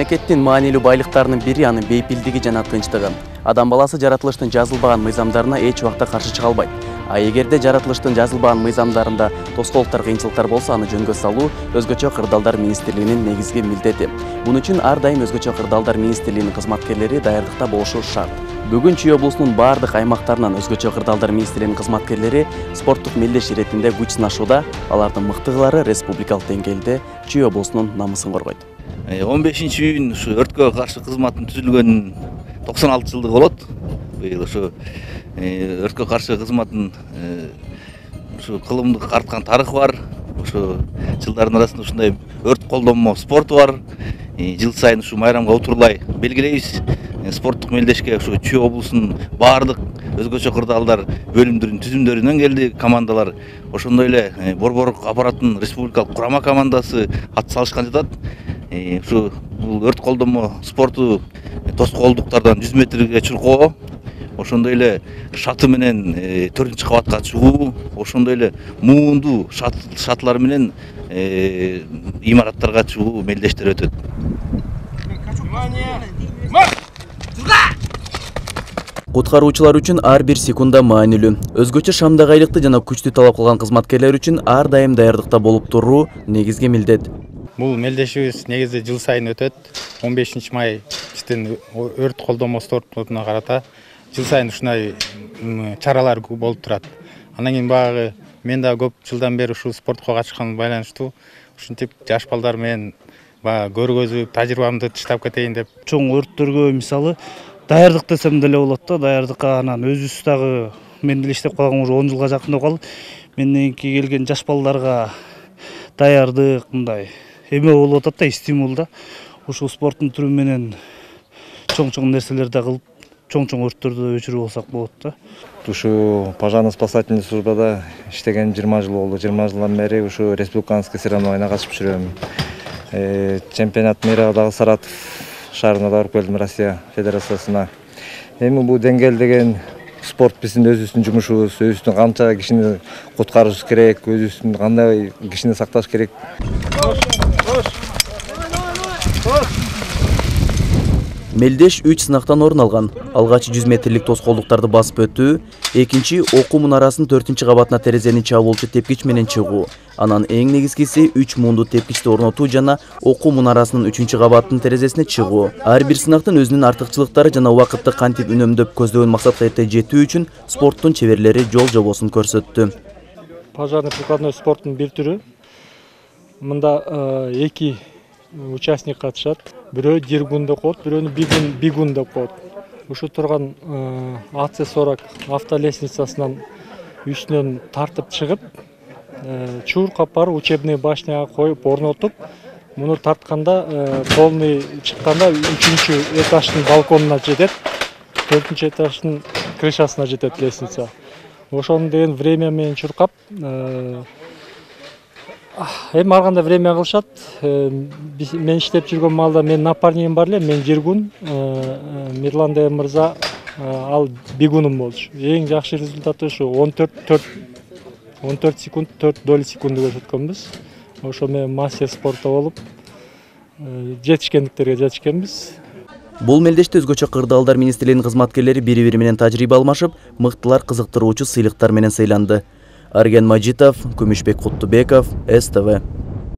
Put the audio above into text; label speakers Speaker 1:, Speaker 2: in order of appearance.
Speaker 1: Мамлекеттин маанилүү байлыктарынын бири анын бейпилдиги жана тынчтыгы. Адам баласы жаратылыштын жазылбаган мыйзамдарына эч убакта каршы чыга албайт. А эгерде жаратылыштын жазылбаган мыйзамдарында тоскоолдуктар, кыйынчылыктар болсо, аны жөнгө салуу өзгөчө кырдаалдар министрлигинин негизги милдети. Бун үчүн ар дайым өзгөчө кырдаалдар министрлигинин кызматкерлери даярдыкта болушу шарт. Бүгүн Чүй облусунун бардык аймактарынан өзгөчө кырдаалдар министрлигинин кызматкерлери спорттук мелдеш иретинде күч сынашууда. Алардын мыктыгылары республикалык деңгээлде Чүй облусунун намысын коргойт.
Speaker 2: 15-июнь ушу өрткө каршы кызматтын түзүлгөн 96 жылдыгы болот. Быйыл ушу өрткө каршы кызматтын ушу кылымдык арткан тарыхы бар. Ушу жылдардын арасында ушундай өрт колдонмо спорту бар. Жыл сайын ушу майрамга утурлай белгилейбиз. Спорттук мелдешке ушу Чүй облусунун бардык өзгөчө кырдаалдар бөлүмдөрүнүн түзүмдөрүнөн келди командалар. Ошондой эле борборлук аппараттын республикалык курама командасы ат салышкан жатат. Ушу бул өрт колдонмо спорту тоскоолдуктардан 100 метрге чуркоо, ошондой эле шаты менен 4-кабатка чыгуу, ошондой эле муунду шатлар менен имараттарга чыгуу мелдештер өтөт.
Speaker 1: Куткаруучулар үчүн ар бир секунда маанилүү. Өзгөчө шамдагы айлыкты жана күчтү талап кылган кызматкерлер үчүн ар дайым даярдыкта болуп туруу негизги милдет.
Speaker 3: Бул мелдешибиз негизи жыл сайын өтөт. 15 май биздин өрт колдонмо спортуна карата жыл сайын ушундай чаралар болуп турат. Андан кийин баягы мен да көп жылдан бери ушул спортко катышканга байланыштуу ушинтип жаш балдар менен баягы көргөзүп, тажрыйбамды таштап кетейин деп.
Speaker 4: Чоң өрттөргө мисалы даярдык десем деле болот да. Даярдыкка анан өзүбүз дагы мен деле иштеп калгам уже 10 жылга жакындап калды. Менден кийин келген жаш балдарга даярдык мындай эме болуп атат да, стимул да. Ушул спорттун түрү менен чоң нерселерди кылып, чоң өрттөрдү өчүрүп алсак болот да.
Speaker 5: Ушу пожарно-спасательный службада иштеген 20 жыл болду. 20 жылдан бери ушу республиканский соревнованияна катышып жүрөм. Чемпионат мира дагы Саратов шаарына барып келдим, Россия Федерациясына. Эми бул деңгээл деген спорт биздин өзүбүздүн жумушубуз, өзүбүздүн канча кишини куткарышыбыз керек, өзүбүздүн кандай кишини сакташ керек.
Speaker 1: Мелдеш 3 сынактан орун алган. Алгачы 100 метрлик тоскоолдуктарды басып өтүү, экинчи окуу мунарасынын 4-кабатына терезени чабуулчу тепкич менен чыгуу. Анан эң негизгиси 3 муунду тепкичти орнотуу жана окуу мунарасынын 3-кабаттын терезесине чыгуу. Ар бир сынактын өзүнүн артыкчылыктары жана убакытты кантип үнөмдөп көздөгөн максатка эрте жетүү үчүн спорттун чеберлери жол жобосун көрсөттү.
Speaker 6: Пожарный прикладной спорттун бир түрү. Мында 2 участник катышат. Бирөө диргун деп коет, бирөөнү бигун деп коет. Ушу турган АЦ-40 автолестницасынан үстүнөн тартып чыгып, чуркап барып учебный башняга коюп орнотуп, муну тартканда полный чыкканда 3-чү этаждын балконуна жетет, 4-чү этаждын крышасына жетет лестница. Ошону деген время менен чуркап, эми ар кандай время кылышат. Мен иштеп жүргөн маалда менин напарнигим бар эле, мен диргун, Мирлан деген мырза ал бигунум болчу. Эң жакшы результаты ушу 14 секунд 4 доли секунду көрсөткөнбүз. Ошо менен мастер спорта болуп жетишкендиктерге жетишкенбиз.
Speaker 1: Бул мелдеште өзгөчө кырдаалдар министрлигинин кызматкерлери бири-бири менен тажрыйба алмашып, мыктылар кызыктыруучу сыйлыктар менен сыйланды. Арген Мажитов, Күмүшбек Куттубеков, СТВ.